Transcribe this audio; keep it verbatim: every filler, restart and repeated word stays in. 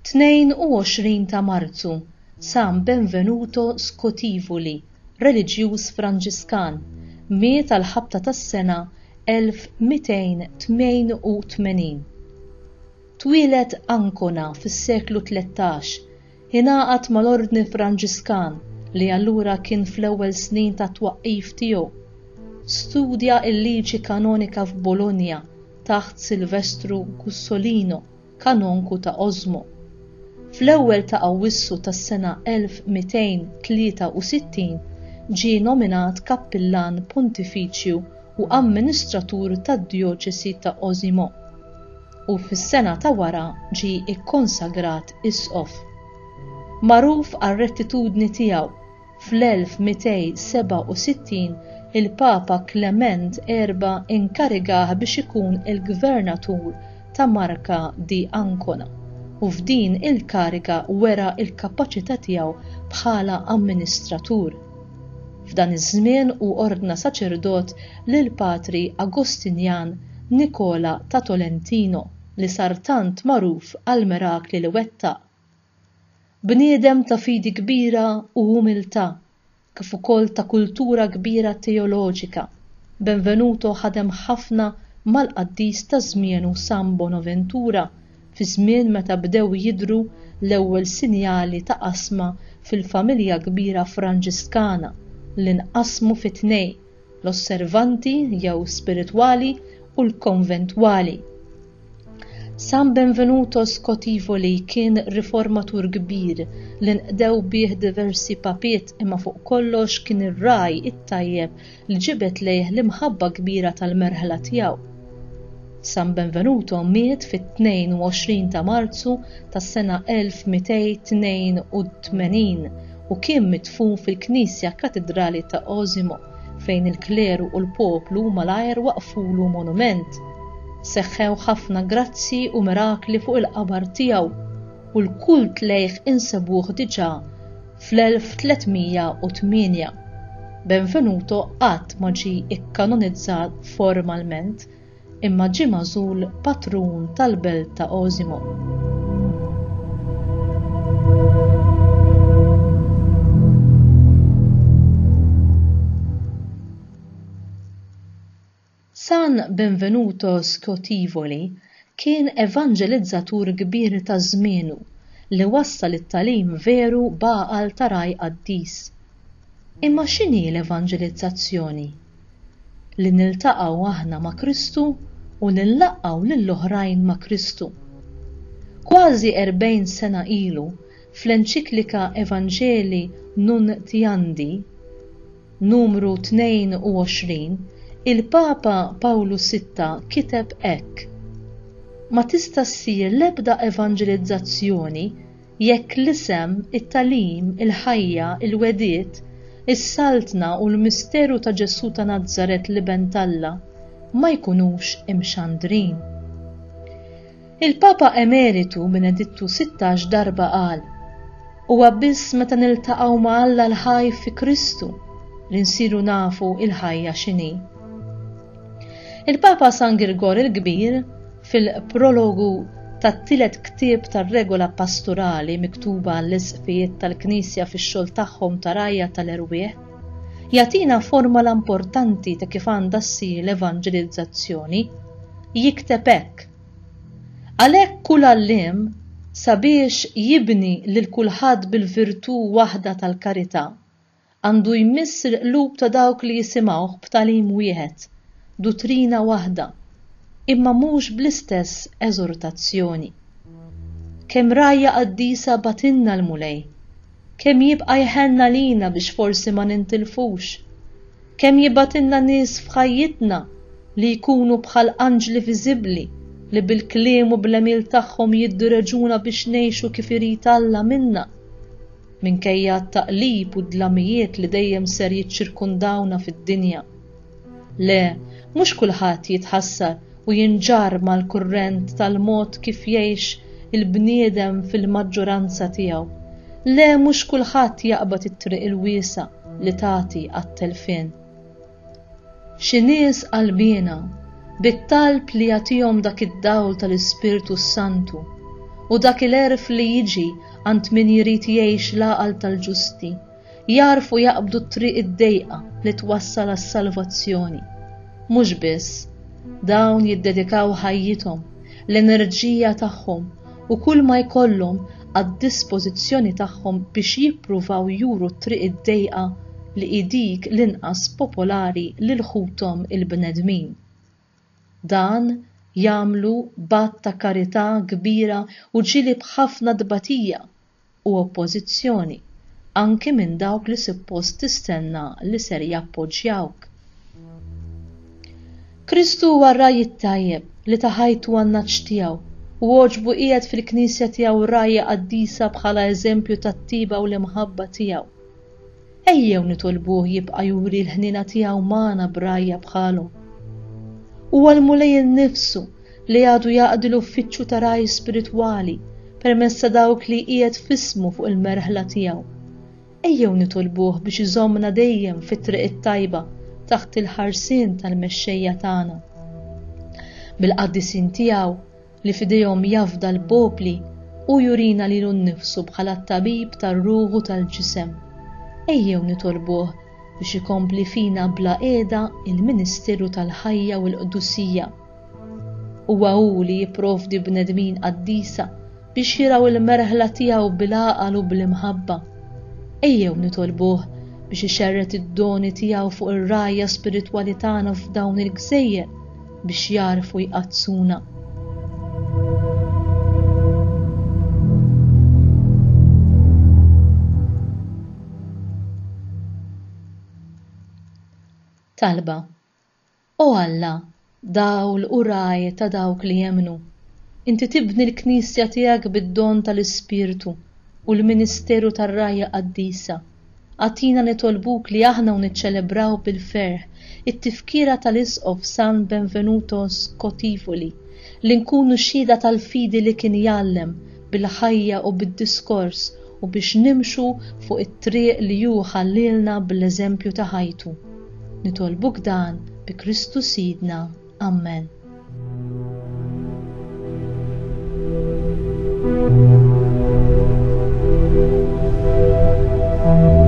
Tnejn u għoxrin ta' Marzu, San Benvenuto Scotivoli, reliġjuż Franġiskan, miet għall-ħabta tas-sena elf mitejn tmien u tmenin. Twieled Ancona fis-seklu tlettax, ingħaqad mal-Ordni Franġiskan li allura kien fl-ewwel snin tat-twaqqif tiegħu. Studja l-liġi kanonika f'Bologna taħt Silvestru Gussolino, kanonku ta' Osimo. Fl-ewwel ta' Awwissu tas-sena elf mitejn tlieta u sittin ġie nominat kappillan pontifiċju u amministratur tad-djoċesi ta' Osimo u fis-sena ta' wara ġie ikkonsagrat isqof. Magħruf għar-rettitudni tiegħu, fl-elf mitejn seba' u sittin il-Papa Clement erba' inkarigah biex ikun il-gvernatur ta' Marca di Ancona u f'din il-kariga wera l-kapaċità tiegħu bħala amministratur. F'dan iż-żmien hu ordna saċerdot lil Patri Agostinjan Nicola ta' Tolentino li sar tant magħruf għall-mirakli li wettaq. Bniedem ta' fidi kbira u umiltà, kif ukoll ta' kultura kbira teoloġika, Benvenuto ħadem ħafna mal-qaddis ta' żmienu San Bonaventura fi żmien meta bdew jidhru l-ewwel sinjali ta' qasma fil-familja kbira Franġiskana li nqasmu fi tnej, l-osservanti jew spiritwali u l-konventwali. San Benvenuto Scotivoli kien riformatur kbir li nqdew bih diversi papiet, imma fuq kollox kien ir-raj it-tajjeb li ġibed lejh l-imħabba kbira tal-merħla tiegħu. San Benvenuto miet fit-tnejn u għoxrin ta' Marzu tas-sena elf mitejn tnejn u tmenin u kien midfun fil-Knisja Katedrali ta' Osimo, fejn il-kleru u l-poplu malajr waqfulu monument. Seħħew ħafna grazzi u mirakli fuq il-qabar tiegħu u l-kult lejh insebuh diġà fl-elf tlietmija u tmienja. Benvenuto qatt ma ġie ikkanonizzat formalment, imma ġie magħżul patrun tal-belt ta' Osimo. San Benvenuto Scotivoli kien evanġelizzatur kbir ta' żmienu li wassal it-tagħlim veru b'għaqal ta' raj qaddis. Imma x'inhi l-evanġelizzazzjoni? Li niltaqgħu aħna ma' Kristu u li nlaqqgħu lill-oħrajn ma' Kristu. Kważi erbgħin sena ilu, fl-enċiklika Evangelii Nuntiandi, numru tnejn u għoxrin, il-Papa Pawlu sitta kiteb hekk: Ma tista' ssir l-ebda evanġelizzazzjoni jekk l-isem, it-tagħlim, il-ħajja, il-wegħdiet, is-saltna u l-misteru ta' Ġesù ta' Nazaret l-Iben t'Alla ma jkunux imxandrin. Il-Papa Emeritu Benedittu sittax darba qal: Huwa biss meta niltaqgħu ma' Alla l-ħaj fi Kristu li nsiru nafu il-ħajja x'inhi. Il-Papa San Girgor il-Kbir fil-prologu tat-tielet ktieb tar-regola pastorali miktuba għall-isqfijiet tal-Knisja fix-xogħol tagħhom ta' rajja tal-erwieħ, jagħtina formola importanti ta' kif għandha ssir l-evanġelizzazzjoni. Jikteb hekk: Għalhekk kull għalliem sabiex jibni lil kulħadd bil-virtù waħda tal-karità, għandu jmiss il-qlub ta' dawk li jisimgħuh b'tagħlim wieħed, duttrina waħda, imma mhux bl-istess eżortazzjoni. Kemm rajja qaddisa batinna l-Mulej, kemm jibqa' jħenna lina biex forsi ma nintilfux, kemm jibatinna nies f'ħajjitna li jkunu bħal anġli viżibbli li bil-kliem u bl-għemil tagħhom jiddireġuna biex ngħixu kif irid Alla minna, minkejja t-taqlib u d-dlamijiet li dejjem ser jiċċirkundawna fid-dinja. Le, mhux kulħadd jitħassar u jinġarr mal-kurrent tal-mod kif jgħix il-bniedem fil-maġġoranza tiegħu. Le, mhux kulħadd jaqbad it-triq il-wiesa li tagħti għat-telfien. Xi nies qalbiena bit-talb li jagħtihom dak id-dawl tal-Ispirtu Santu U dak il-għerf li jiġi għand min jrid jgħix l-għaqal tal-ġusti, jagħrfu jaqbdu t-triq id-dejqa li twassal għas-salvazzjoni. Mhux biss, dawn jiddedikaw ħajjithom, l-enerġija tagħhom u kull ma jkollhom għad-dispożizzjoni tagħhom biex jippruvaw juru t-triq id-dejqa li hi dik l-inqas popolari lil ħuthom il-bnedmin. Dan jagħmlu b'att ta' karità kbira u ġieli b'ħafna tbatija u oppożizzjoni, anki minn dawk li suppost tistenna li ser jappoġġjawk. Kristu huwa r-ragħaj it-tajjeb li ta ħajtu għan-nagħaġ tiegħu u għoġbu qiegħed fil-Knisja tiegħu rgħajja qaddisa bħala eżempju tat-tiba u l-imħabba tiegħu. Ejjew nitolbuh jibqa' juri l-ħniena tiegħu magħna b'rgħajja bħalhom. Huwa l-Mulej innifsu li għadu jaqdi l-uffiċċju ta' ragħaj spiritwali permezz ta' dawk li qiegħed f'ismu fuq il-merħla tiegħu. Ejjew nitolbuh biex iżommna dejjem fit-triq it-tajba taħt il-ħarsien tal-mexxejja tagħna. Bil-qaddisin tiegħu li f'idejhom jafda l-popli, hu jurina lilu nnifsu bħala t-tabib tar-ruħ u tal-ġisem. Ejjew nitolbuh biex ikompli fina bla qiegħda il-ministeru tal-ħajja u l-qdusija. Huwa hu li jipprovdi bnedmin qaddisa biex jirgħu l-merħla tiegħu bil-għaqal u bl-imħabba. Ejjew nitolbuh biex ixerred id-doni tiegħu fuq ir-rgħajja spiritwali tagħna f'dawn il-gżejjer biex jagħrfu jqaddsuna. Talba. O Alla, dawl u ragħaj ta' dawk li jemmnu, inti tibni l-Knisja tiegħek bid-don tal-Ispirtu u l-ministeru tar-rgħajja qaddisa. Agħtina nitolbuk li aħna u niċċelebraw bil-ferħ it-tifkira tal-Isqof San Benvenuto Scotivoli, li nkunu xhieda tal-fidi li kien jgħallem bil-ħajja u bid-diskors u biex nimxu fuq it-triq li hu ħallielna bl-eżempju ta' ħajtu. Nitolbuk dan bi Kristu Sidna. Amen. Thank you.